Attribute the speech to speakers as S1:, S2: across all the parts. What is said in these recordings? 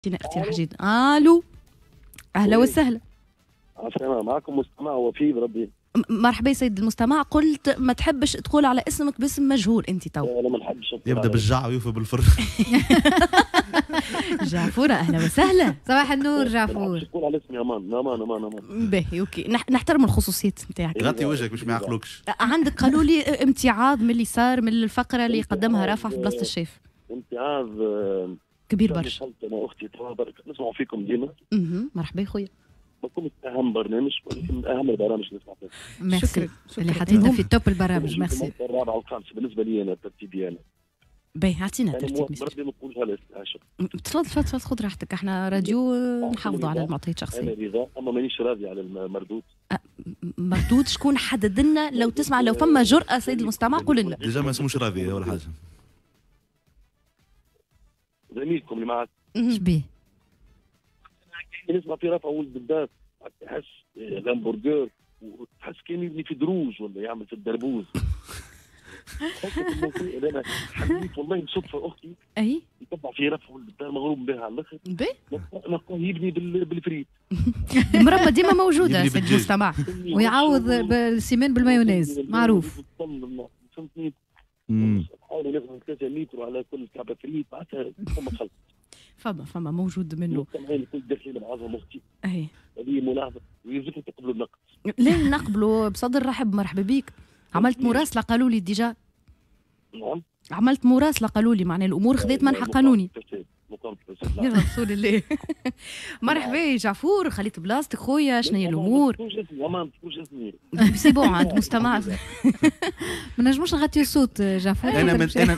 S1: اعطينا اقتراح جديد. الو، اهلا وسهلا.
S2: عسلامة، معكم مستمع وفي بربي.
S1: مرحبا سيد المستمع. قلت ما تحبش تقول على اسمك باسم مجهول انت تو.
S2: انا ما نحبش.
S3: يبدا بالجع ويوفى بالفر.
S1: جعفورة، اهلا وسهلا.
S4: صباح النور جعفور.
S2: تقول على اسمي، امان امان امان امان.
S1: باهي، OK، نحترم الخصوصيات نتاعك.
S3: غطي وجهك باش ما يعقلوكش.
S1: عندك قالوا لي امتعاض من اللي صار من الفقرة اللي قدمها رافع في بلاصة الشيف.
S2: امتعاض
S1: كبير برشا.
S2: انا اختي نسمعوا فيكم ديما.
S1: مرحبا خويا.
S2: ما كنت اهم برنامج ولكن من اهم البرامج اللي نسمع فيها.
S4: ميرسي. شكرا اللي حطيتنا في top البرامج، ميرسي.
S2: الرابعة والخامسة بالنسبة لي انا، ترتيبي انا.
S1: باهي، اعطينا ترتيب.
S2: بربي ما نقولش.
S1: تفضل تفضل تفضل، خذ راحتك، احنا راديو نحافظوا على المعطيات الشخصيه.
S2: انا رضا، اما مانيش راضي على المردود.
S1: مردود شكون حدد لنا؟ لو تسمع، لو فما جرأة سيد المستمع قول لنا.
S3: déjà ما اسموش راضي ولا حاجه.
S2: زميلكم اللي معك.
S4: شبيه؟
S2: نسمع في رفع ولد الدار، تحس الهامبرجر وتحس كان يبني في دروج ولا يعمل في الدربوز. انا حبيت والله بصدفه اختي
S1: اي
S2: يتبع في رفع ولد الدار، مغروم بها على الاخر، نلقاه يبني بالفريت.
S1: المربى ديما موجودة سيد المستمع.
S4: ويعوض بال ciment بالمايونيز معروف.
S2: فهمتني، حاولوا ناخذ 3 متر على كل كعبه فريت، معناتها فما خلط.
S1: فما موجود منه.
S2: المستمعين الكل داخلين بعضهم اختي.
S1: اي
S2: هذه ملاحظة ويلزمكم تقبلوا النقد.
S1: لا، نقبلوا بصدر رحب، مرحبا بيك. عملت مراسله قالوا لي déjà.
S2: نعم.
S1: عملت مراسله قالوا لي، معناها الامور خذت منحى قانوني. يا رسول الله، مرحبا يا جعفور، خليت بلاصتك خويا. شنو هي الامور؟
S2: ما تقولش اسمي.
S1: c'est bon، عند مستمع.
S4: ما نجموش نغطيو الصوت جعفور.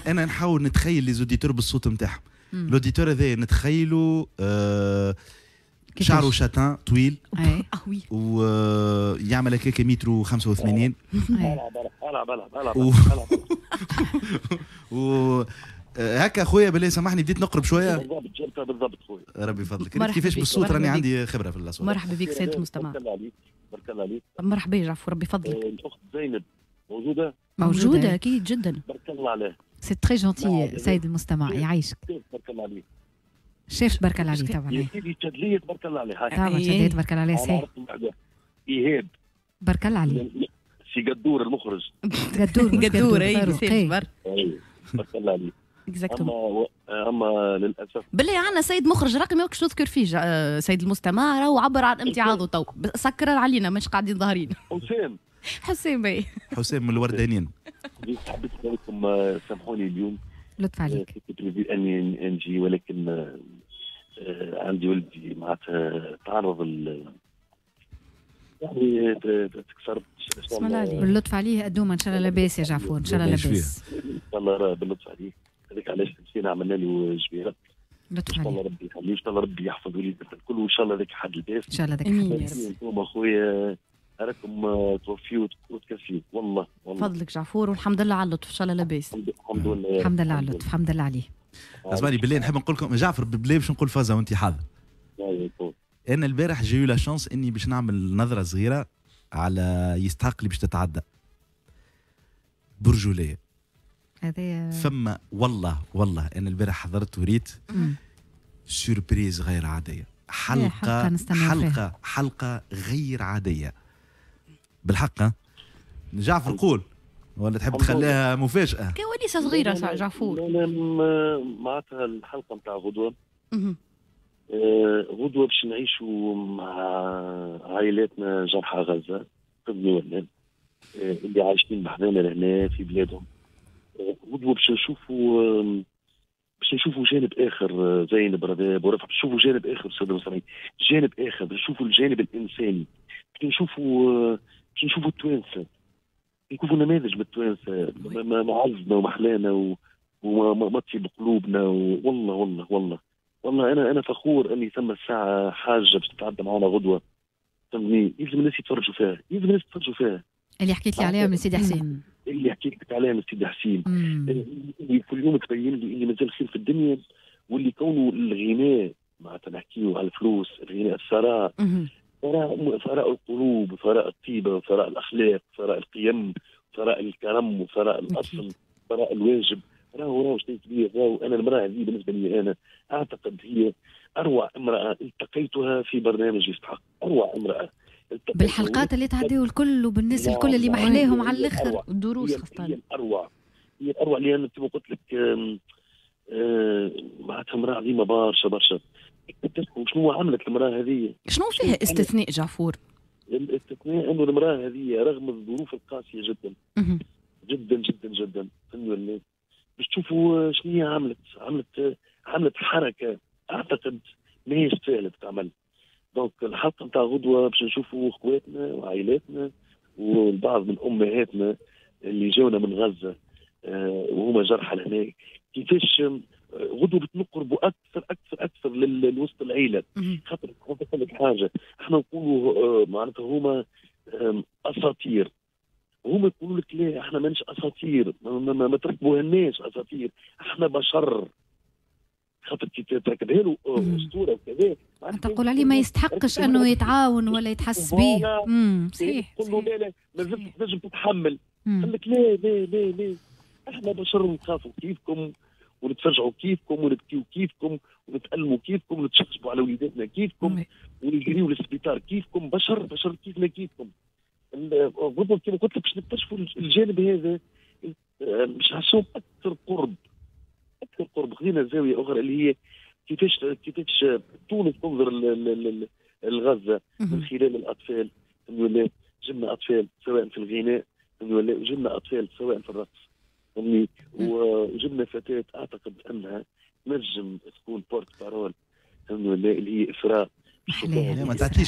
S3: انا نحاول نتخيل les auditeurs بالصوت نتاعهم. l'auditeur هذا نتخيلوا شعره châtain طويل ويعمل هكاك مترو 85.
S2: العب العب العب.
S3: و هكا خويا، بالله سامحني بديت نقرب شويه.
S2: بالضبط، جبتها بالضبط خويا.
S3: ربي يفضلك. كيفاش بالصوت؟ راني عندي خبره في الاصوات.
S1: مرحبا بك سيد المستمع.
S2: بارك الله عليك، بارك الله عليك.
S1: مرحبا يا جعفور، ربي يفضلك.
S2: الاخت زينب موجوده؟
S1: موجوده اكيد جدا.
S2: بارك الله عليه.
S4: c'est très gentil سيد المستمع، يعيشك.
S2: بارك الله عليك.
S4: شيف بارك الله عليه طبعا.
S2: يا سيدي تشدلية تبارك الله عليه.
S4: طبعا تشدلية تبارك الله عليه، صحيح.
S2: ايهاب
S4: بارك الله عليه.
S2: سي قدور المخرج.
S4: قدور.
S1: قدور، اي
S2: بارك الله عليه. اما للاسف
S1: بالله عندنا سيد مخرج رقمي وكش نذكر فيه سيد المستمع، راهو عبر عن امتعاضه تو، سكر علينا، مش قاعدين ظاهرين.
S2: حسام.
S1: حسام باي.
S3: حسام من الوردانين.
S2: حبيت نقول لكم سامحوني اليوم.
S4: لطف عليك.
S2: كنت اني نجي ولكن عندي ولدي معناتها تعرض يعني تكسرت.
S1: بسم الله عليه.
S4: باللطف عليه أدوما، ان شاء الله لاباس يا جعفور، ان شاء الله لاباس.
S2: ان شاء الله باللطف عليه، هذاك علاش مشينا عملنا له جبيرة.
S4: لطف
S2: ان شاء الله ربي يخليه، ان شاء الله ربي يحفظ وليدنا الكل، وان شاء الله ذاك حد الباس.
S4: ان شاء الله ذاك حد الباس.
S2: انتم اخويا راكم توفيوا وتكفيوا والله والله.
S1: فضلك جعفور، والحمد لله على اللطف، ان شاء الله لاباس.
S2: الحمد لله،
S4: الحمد لله على اللطف، الحمد لله عليه.
S3: اسمعني بالله، نحب نقول لكم جعفر بالله باش نقول فازة وانت حاضر. انا البارح j'ai eu la chance اني باش نعمل نظره صغيرة على يستحق اللي باش تتعدى برجولية.
S4: هذا
S3: فما والله والله انا البارح حضرت وريت surprise غير عاديه، حلقة حلقة حلقة غير عادية بالحق. جعفر قول ولا تحب تخليها مفاجاة؟
S1: كواليس صغيرة جعفور.
S2: انا معناتها الحلقة نتاع غدوه، غدوه باش نعيشوا مع عائلاتنا جرحى غزة قبل ولا اللي عايشين بحذانا لهنا في بلادهم. غدوه باش نشوفوا جانب اخر زينب رباب ورفع، باش نشوفوا جانب اخر سيد المستمعين، جانب اخر، باش نشوفوا الجانب الانساني، باش نشوفوا التوانسه، نشوفوا نماذج من التوانسة معزنا ومحلانا وما تطيب قلوبنا. والله والله والله والله انا فخور اني ثم الساعة حاجة باش تتعدى معنا غدوه، فهمتني؟ يلزم الناس يتفرجوا فيها، يلزم الناس يتفرجوا فيها.
S4: اللي حكيت لي عليها من سيدي حسين.
S2: اللي حكيت لك عليها من سيدي حسين، اللي كل يوم تبين لي اللي مازال خير في الدنيا، واللي كونه الغناء معناتها نحكيو على الفلوس، الغناء الثراء، ثراء القلوب، ثراء الطيبه، ثراء الاخلاق، ثراء القيم، ثراء الكرم، وثراء الاصل، ثراء الواجب. راهو شيء كبير. راهو انا المراة هذه بالنسبة لي انا اعتقد هي اروع امراة التقيتها في برنامج يستحق، اروع امراة
S4: بالحلقات اللي تعديوا الكل وبالناس الكل اللي محلاهم على الاخر
S1: الدروس خاصة.
S2: هي الاروع، هي الاروع لان كما قلت لك معناتها امراة عظيمة برشا برشا. شنو عملت المراة هذه؟
S1: شنو فيها استثناء جعفور؟
S2: الاستثناء انه المراة هذه رغم الظروف القاسية جدا جدا جدا جدا، انه باش تشوفوا شنو هي عملت، عملت حركة اعتقد ماهيش سهلة تتعمل. donc الحلقة نتاع غدوه باش نشوفوا اخواتنا وعائلاتنا والبعض من امهاتنا اللي جاونا من غزة وهما جرحى لهناك، كيفاش غدوه بتنقربوا اكثر اكثر اكثر لوسط العيلة. خاطر نقول لك حاجة، احنا نقولوا معناتها هما اساطير، وهما يقولوا لك لا احنا ماناش اساطير، ما تركبوهناش اساطير، احنا بشر. خاطر كي تركبها له اسطورة وكذا
S4: تقول عليه ما يستحقش انه يتعاون ولا يتحس به. صحيح.
S2: تقول له لا لا مازلت تنجم تتحمل، قال لك لا لا لا لا احنا بشر ونخافوا كيفكم ونتفرجعوا كيفكم ونبكيو كيفكم ونتألموا كيفكم ونتشقشقوا على وليداتنا كيفكم ونجريو للسبيطار كيفكم، بشر بشر كيفنا كيفكم. غدوه كما قلت لك باش نكتشفوا الجانب هذا، باش نحسوهم اكثر قرب اكثر قرب. خذينا زاوية اخرى اللي هي كيفاش تونس تنظر لغزة من خلال الاطفال. جبنا اطفال سواء في الغناء، جبنا اطفال سواء في الرقص، وجبنا فتاة اعتقد انها تنجم تكون porte-parole اللي هي اسراء.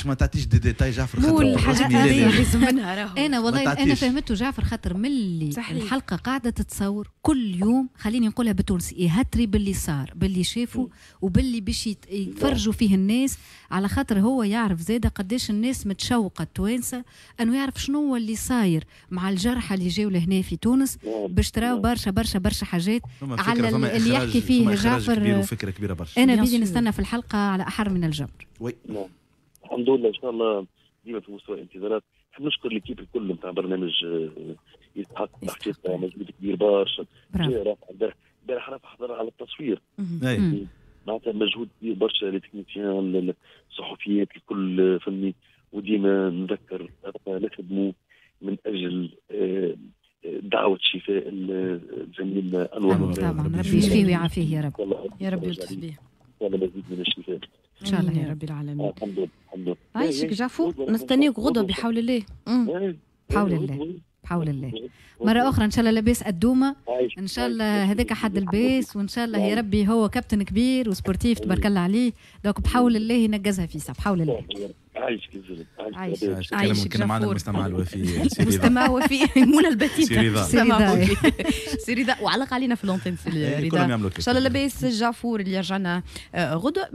S3: ما تعطيش des détails جعفر،
S1: خاطر الحاجات هذه لازم منها راهو.
S4: انا والله انا فهمته جعفر، خاطر ملي الحلقة قاعدة تتصور كل يوم، خليني نقولها بالتونسي، يهتري باللي صار باللي شافوا وباللي باش يتفرجوا فيه الناس، على خاطر هو يعرف زاده قداش الناس متشوقة التوانسة انه يعرف شنو هو اللي صاير مع الجرحى اللي جاوا لهنا في تونس، باش تراو برشا برشا برشا حاجات على اللي يحكي فيه جعفر.
S3: كبير وفكره كبيرة برشا.
S4: انا بيدي نستنى في الحلقة على احر من الجمر.
S3: oui
S2: الحمد لله، ان شاء الله ديما في مستوى الانتظارات. نحب نشكر l'équipe الكل نتاع برنامج يستحق، حقيقة مجهود كبير برشا. البارح رافع حضر على التصوير، معناتها مجهود كبير برشا les techniciens، الصحفيات الكل فني. وديما نذكر نخدموا من اجل دعوة شفاء زميلنا انور،
S4: طبعا ربي يشفيه ويعافيه يا رب،
S1: يا رب يلطف به،
S2: مزيد من الشفاء
S1: ان شاء الله يا رب العالمين.
S2: الحمد لله الحمد لله.
S1: عايشك جعفور، نستنيك غدوه بحول الله.
S4: بحول الله بحول الله. مرة أخرى إن شاء الله لاباس الدومة، إن شاء الله هذاك حد الباس، وإن شاء الله يا ربي هو كابتن كبير و sportif تبارك الله عليه، donc بحول الله ينجزها في ساعة بحول الله.
S2: عايشك
S1: عايشك.
S3: عايشك. كان معنا المستمع الوفي
S1: المستمع الوفي منى البتيتة، سي رضا، وعلق علينا في l'antenne سي رضا. إن شاء الله لاباس جعفور اللي يرجعنا غدوة.